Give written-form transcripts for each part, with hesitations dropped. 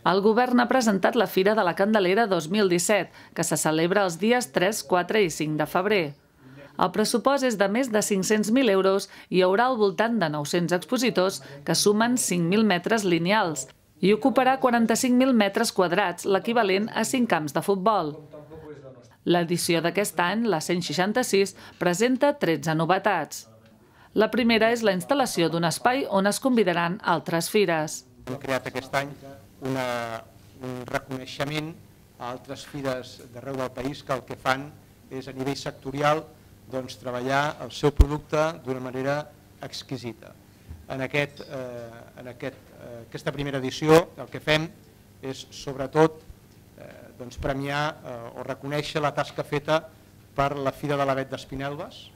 El govern ha presentat la Fira de la Candelera 2017, que se celebra els dies 3, 4 i 5 de febrer. El pressupost és de més de 500.000 euros i hi haurà al voltant de 900 expositors que sumen 5.000 metres lineals i ocuparà 45.000 metres quadrats, l'equivalent a 5 camps de futbol. L'edició d'aquest any, la 166, presenta 13 novetats. La primera és la instal·lació d'un espai on es convidaran altres fires. Hem creat aquest any un reconeixement a altres fires d'arreu del país que el que fan és a nivell sectorial treballar el seu producte d'una manera exquisita. En aquesta primera edició el que fem és sobretot premiar o reconèixer la tasca feta per la Fira de l'Avet d'Espinelves,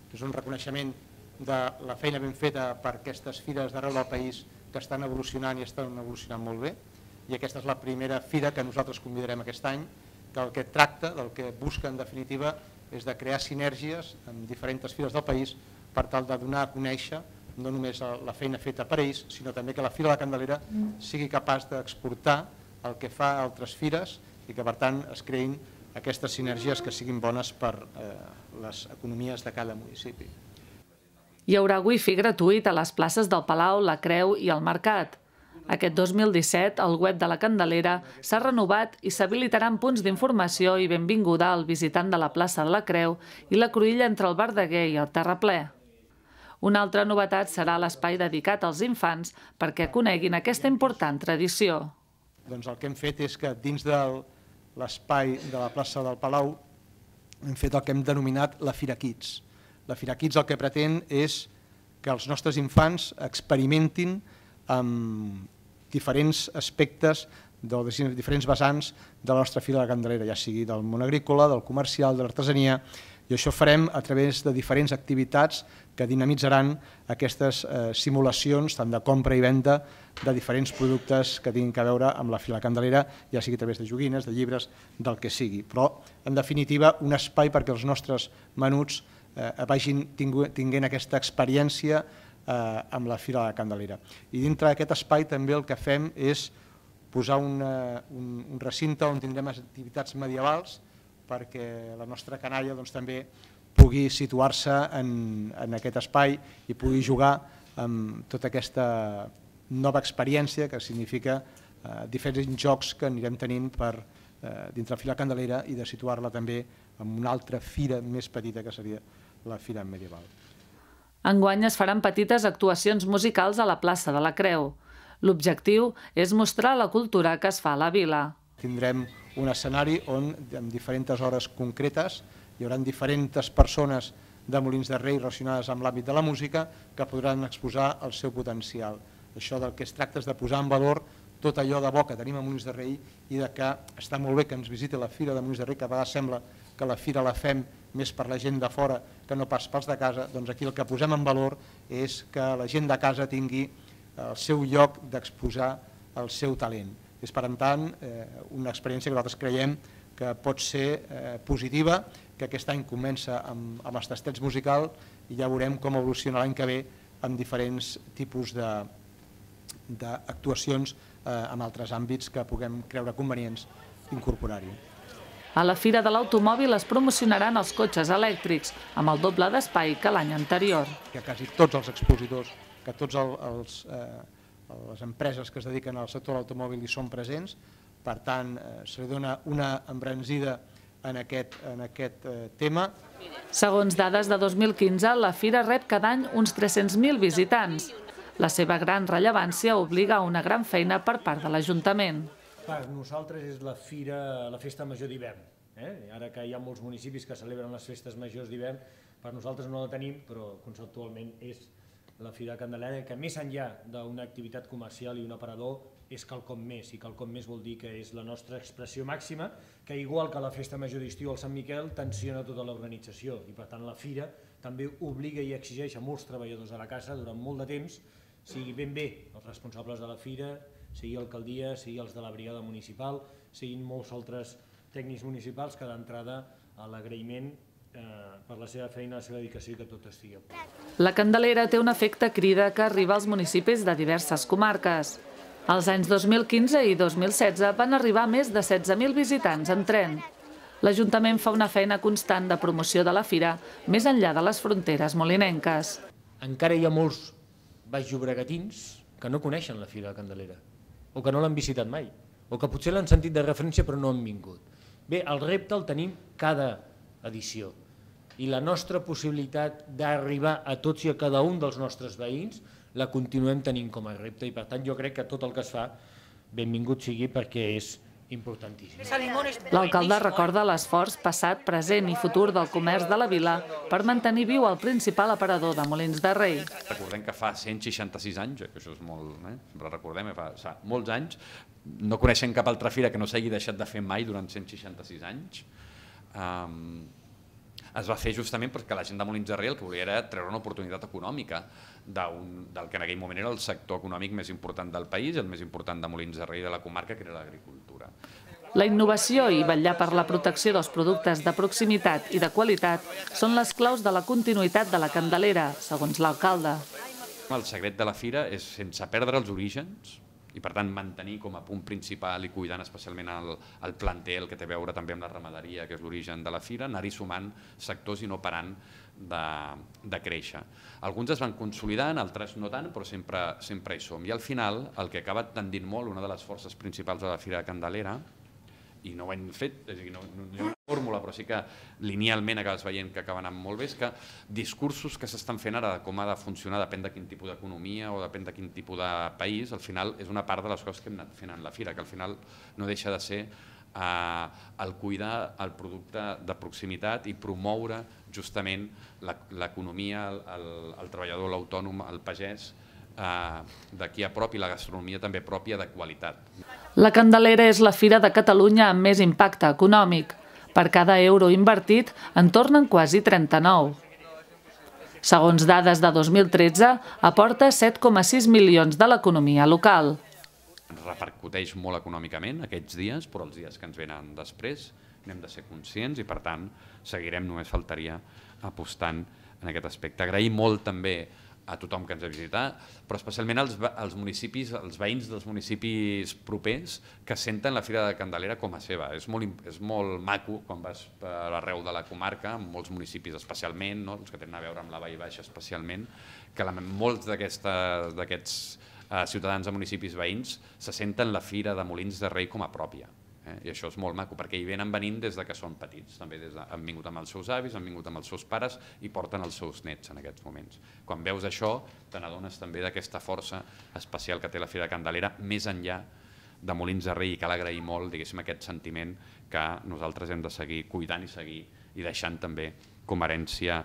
que és un reconeixement de la feina ben feta per aquestes fires d'arreu del país que estan evolucionant i estan evolucionant molt bé, i aquesta és la primera fira que nosaltres convidarem aquest any, que el que tracta, del que busca en definitiva, és de crear sinergies amb diferents fires del país per tal de donar a conèixer no només la feina feta per ells, sinó també que la Fira de la Candelera sigui capaç d'exportar el que fa a altres fires i que per tant es creïn aquestes sinergies que siguin bones per les economies de cada municipi. Hi haurà wifi gratuït a les places del Palau, la Creu i el Mercat. Aquest 2017, el web de la Candelera s'ha renovat i s'habilitaran punts d'informació i benvinguda al visitant de la plaça de la Creu i la cruïlla entre el Verdaguer i el Terraplè. Una altra novetat serà l'espai dedicat als infants perquè coneguin aquesta important tradició. El que hem fet és que dins de l'espai de la plaça del Palau hem fet el que hem denominat la Fira Kids. La Fira Kids el que pretén és que els nostres infants experimentin amb diferents aspectes, diferents vessants de la nostra Fira de la Candelera, ja sigui del món agrícola, del comercial, de l'artesania, i això farem a través de diferents activitats que dinamitzaran aquestes simulacions, tant de compra i venda, de diferents productes que tinguin a veure amb la Fira de la Candelera, ja sigui a través de joguines, de llibres, del que sigui. Però, en definitiva, un espai perquè els nostres menuts vagin tinguent aquesta experiència amb la Fira de la Candelera. I dintre d'aquest espai també el que fem és posar un recinte on tindrem activitats medievals perquè la nostra canalla també pugui situar-se en aquest espai i pugui jugar amb tota aquesta nova experiència que significa diferents jocs que anirem tenint dintre la Fira de la Candelera i de situar-la també en una altra fira més petita que seria la Fira Medieval. Enguany es faran petites actuacions musicals a la plaça de la Creu. L'objectiu és mostrar la cultura que es fa a la vila. Tindrem un escenari on en diferents hores concretes hi haurà diferents persones de Molins de Rei relacionades amb l'àmbit de la música que podran exposar el seu potencial. Això del que es tracta és de posar en valor tot allò de bo que tenim a Molins de Rei i que està molt bé que ens visiti la Fira de Molins de Rei, que a vegades sembla que la fira la fem més per la gent de fora que no pas pels de casa, doncs aquí el que posem en valor és que la gent de casa tingui el seu lloc d'exposar el seu talent. És, per tant, una experiència que nosaltres creiem que pot ser positiva, que aquest any comença amb els tastets musicals i ja veurem com evoluciona l'any que ve amb diferents tipus d'actuacions en altres àmbits que puguem creure convenients incorporar-hi. A la Fira de l'Automòbil es promocionaran els cotxes elèctrics, amb el doble d'espai que l'any anterior. Que quasi tots els expositors, que totes les empreses que es dediquen al sector de l'automòbil hi són presents, per tant, se li dona una embranzida en aquest tema. Segons dades de 2015, la Fira rep cada any uns 300.000 visitants. La seva gran rellevància obliga a una gran feina per part de l'Ajuntament. Per nosaltres és la festa major d'hivern. Ara que hi ha molts municipis que celebren les festes majors d'hivern, per nosaltres no la tenim, però conceptualment és la Fira de Candelera, que més enllà d'una activitat comercial i un aparador és quelcom més, i quelcom més vol dir que és la nostra expressió màxima, que igual que la festa major d'estiu al Sant Miquel tensiona tota l'organització, i per tant la Fira també obliga i exigeix a molts treballadors de la casa durant molt de temps, sigui ben bé els responsables de la Fira, sigui l'alcaldia, sigui els de la brigada municipal, siguin molts altres tècnics municipals que d'entrada a l'agraïment per la seva feina, la seva dedicació i que tot estigui a punt. La Candelera té un efecte crida que arriba als municipis de diverses comarques. Els anys 2015 i 2016 van arribar més de 16.000 visitants en tren. L'Ajuntament fa una feina constant de promoció de la fira més enllà de les fronteres molinenques. Encara hi ha molts baixllobregatins que no coneixen la Fira de Candelera, o que no l'han visitat mai, o que potser l'han sentit de referència però no han vingut. Bé, el repte el tenim cada edició i la nostra possibilitat d'arribar a tots i a cada un dels nostres veïns la continuem tenint com a repte i per tant jo crec que tot el que es fa benvingut sigui perquè és importantíssim. L'alcalde recorda l'esforç passat, present i futur del comerç de la vila per mantenir viu el principal aparador de Molins de Rei. Recordem que fa 166 anys, que això és molt, sempre recordem, fa molts anys, no coneixem cap altra fira que no s'hagi deixat de fer mai durant 166 anys. Es va fer justament perquè la gent de Molins de Rei el que volia era treure una oportunitat econòmica del que en aquell moment era el sector econòmic més important del país, el més important de Molins de Rei de la comarca, que era l'agricultura. La innovació i vetllar per la protecció dels productes de proximitat i de qualitat són les claus de la continuïtat de la Candelera, segons l'alcalde. El secret de la fira és, sense perdre els orígens, i per tant mantenir com a punt principal i cuidant especialment el planter, el que té a veure també amb la ramaderia, que és l'origen de la fira, anar-hi sumant sectors i no parant de créixer. Alguns es van consolidant, altres no tant, però sempre hi som. I al final, el que acaba tendint molt, una de les forces principals de la Fira de Candelera, i no ho hem fet, és a dir, no hi ha una fórmula, però sí que linealment acabes veient que acaben anant molt bé, és que discursos que s'estan fent ara de com ha de funcionar, depèn de quin tipus d'economia o depèn de quin tipus de país, al final és una part de les coses que hem anat fent en la fira, que al final no deixa de ser el cuidar el producte de proximitat i promoure justament l'economia, el treballador, l'autònom, el pagès, d'aquí a prop i la gastronomia també pròpia de qualitat. La Candelera és la fira de Catalunya amb més impacte econòmic. Per cada euro invertit en tornen quasi 39. Segons dades de 2013, aporta 7,6 milions de l'economia local. Ens repercuteix molt econòmicament aquests dies, però els dies que ens venen després n'hem de ser conscients i per tant seguirem, només faltaria, apostant en aquest aspecte. Agrair molt també a tothom que ens ha visitat, però especialment als municipis, als veïns dels municipis propers que senten la Fira de Candelera com a seva. És molt maco quan vas per arreu de la comarca, en molts municipis especialment, els que tenen a veure amb la Vall Baixa especialment, que molts d'aquests ciutadans de municipis veïns se senten la Fira de Molins de Rei com a pròpia. I això és molt maco, perquè hi venen venint des que són petits. També han vingut amb els seus avis, han vingut amb els seus pares i porten els seus nets en aquests moments. Quan veus això, te n'adones també d'aquesta força especial que té la Fira de Candelera, més enllà de Molins de Rei, i cal agrair molt, diguéssim, aquest sentiment que nosaltres hem de seguir cuidant i seguir i deixant també com a herència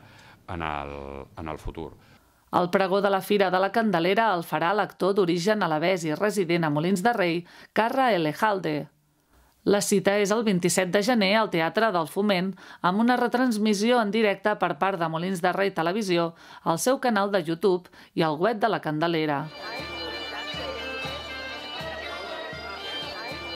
en el futur. El pregó de la Fira de la Candelera el farà l'actor d'origen alabès i resident a Molins de Rei, Carra Elejalde. La cita és el 27 de gener al Teatre del Foment, amb una retransmissió en directe per part de Molins de Rei Televisió, al seu canal de YouTube i al web de la Candelera.